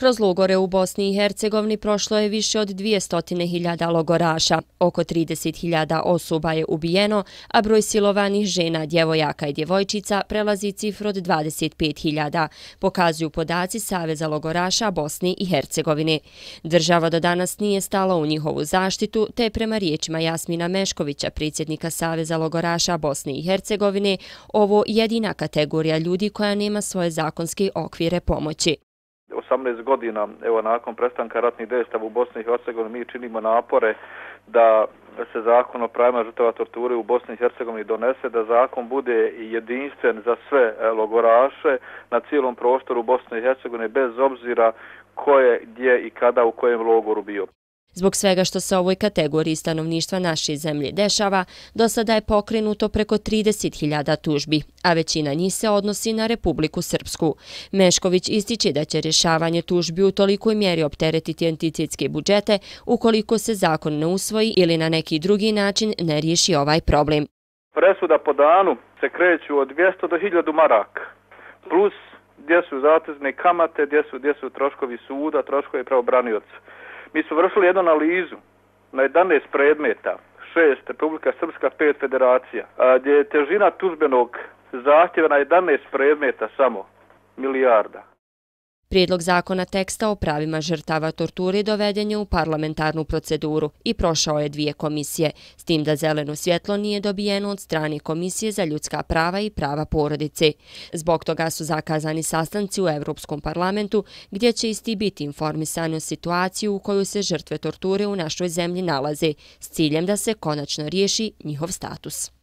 Kroz logore u Bosni i Hercegovini prošlo je više od 200.000 logoraša, oko 30.000 osoba je ubijeno, a broj silovanih žena, djevojaka i djevojčica prelazi cifru od 25.000, pokazuju podaci Saveza logoraša Bosni i Hercegovine. Država do danas nije stala u njihovu zaštitu, te je prema riječima Jasmina Meškovića, predsjednika Saveza logoraša Bosne i Hercegovine, ovo jedina kategorija ljudi koja nema svoje zakonske okvire pomoći. 18 godina, evo nakon prestanka ratnih dejstava u Bosni i Hercegovini, mi činimo napore da se zakon o pravima žrtava torture u Bosni i Hercegovini donese, da zakon bude jedinstven za sve logoraše na cijelom prostoru Bosne i Hercegovine, bez obzira ko je, gdje i kada u kojem logoru bio. Zbog svega što se ovoj kategoriji stanovništva naše zemlje dešava, do sada je pokrenuto preko 30.000 tužbi, a većina njih se odnosi na Republiku Srpsku. Mešković ističe da će rješavanje tužbi u tolikoj mjeri opteretiti entitetske budžete ukoliko se zakon ne usvoji ili na neki drugi način ne riješi ovaj problem. Presuda po danu se kreću od 200 do 1000 maraka, plus gdje su zatezne kamate, gdje su troškovi suda, troškovi pravobranioca. Mi su vršili jednu analizu na 11 predmeta, 6 Republika Srpska, 5 federacija, gdje je težina tužbenog zahtjeva na 11 predmeta samo milijarda. Prijedlog zakona teksta o pravima žrtava torture doveden je u parlamentarnu proceduru i prošao je 2 komisije, s tim da zeleno svjetlo nije dobijeno od strane Komisije za ljudska prava i prava porodice. Zbog toga su zakazani sastanci u Europskom parlamentu, gdje će isti biti informisani o situaciji u kojoj se žrtve torture u našoj zemlji nalaze, s ciljem da se konačno riješi njihov status.